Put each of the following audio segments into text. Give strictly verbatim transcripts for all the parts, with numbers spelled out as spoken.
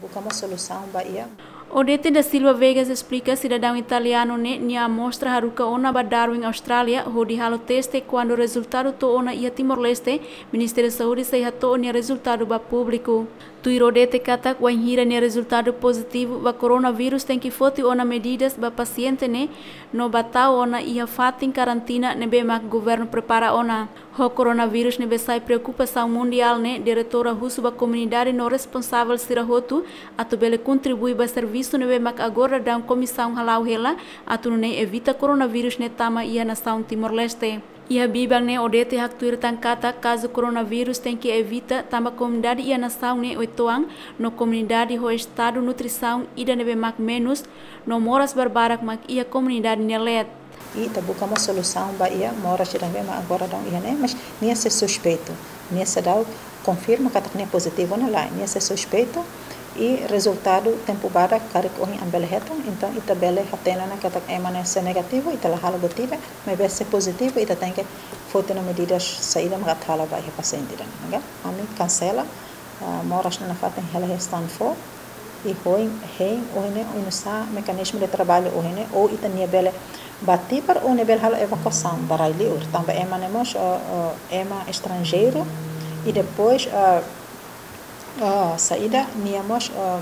Buka mós solusaun ba iha. Odete da Silva Vegas esplika sidadaun italianu ne'e nia amostra haruka ona ba Darwin, Austrália, hodi halo teste. Kuandu rezultadu to'o ona iha Timor-Leste, Ministériu Saúde sei hato'o nia rezultadu ba públiku. Tuir Odete katak, wainhira nia rezultadu pozitivu ba koronavírus, tenke foti ona medidas ba pasiente ne'e, no ba tau ona iha fatin karantina ne'ebé mak governu prepara ona. Ho koronavírus ne'ebé sai preokupasaun mundiál ne'e, diretora husu ba komunidade no responsavel sira hotu atu bele kontribui ba servisu ne'ebé mak agora daudaun komisaun hala'o hela, atu nune'e evita koronavírus ne'e tama iha nasaun Timor-Leste. Iha biban ne'e Odete haktuir tan katak kazu koronavírus tenke evita tanba komunidade iha nasaun ne'e uitoan, no komunidade ho estadu nutrisaun ida ne'ebé mak menus, no moras barbarak mak iha komunidade nia leet. I ita buka mós solusaun ba iha moras ida ne'ebé mak agora daudaun iha ne'e, mas nia sei suspeitu. Nia seidauk konfirma katak nia pozitivu ne'e lae, nia sei suspeitu. I rezultadu tempu badak karik ohin ami bele hetan, entaun ita bele hatene ona katak ema ne'e sei negativu, ita la halo buat ida, maibé sei pozitivu, ita tenke foti ona medidas saida mak atu halo ba iha pasiente ida-ne'e, oke? Ami kansela, ah, moras ne'e nafatin hela iha Stanford, i ohin, hein, ohin ne'e, oinsá mekanizmu de traballu ohin ne'e, ou ita-nia bele bá Tibar ou nia bele halo evakuasaun ba rai-liur, tanba ema ne'e mós, ah, ah, ema estranjeiru, i depois, ah, ah, saida, nia mós, ah,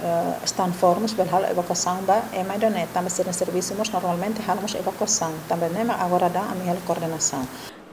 ah, Stanford mós bele halo evakuasaun ba ema ida-ne'e, tanba sira-nia servisu mós normalmente halo mós evakuasaun, tanba ne'e mak agora daudaun ami halo koordenasaun.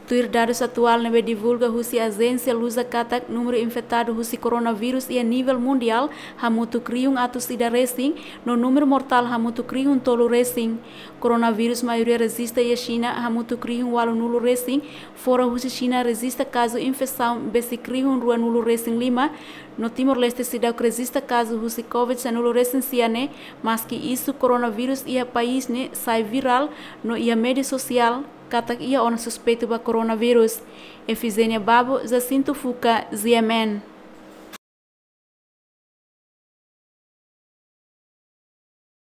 Tuir dadus atuál ne'ebé divulga husi ajénsia Luza katak, númeru infetadu husi koronavírus iha nivel mundiál hamutuk rihun atus ida resin, no númeru mortál hamutuk rihun tolu resin. Koronavírus maioria rejista iha Xina hamutuk rihun ualunulu resin, fora husi Xina rejista kazu infesaun besik rihun ruanulu resin lima, no Timor-Leste seidauk rejista kazu husi covid sanulu resin sia ne'e, maski isu koronavírus iha país ne'e sai virál no iha média sosiál katak iha ona suspeitu ba koronavírus. Efizénia Babo, Jacinto Fuca, G M N.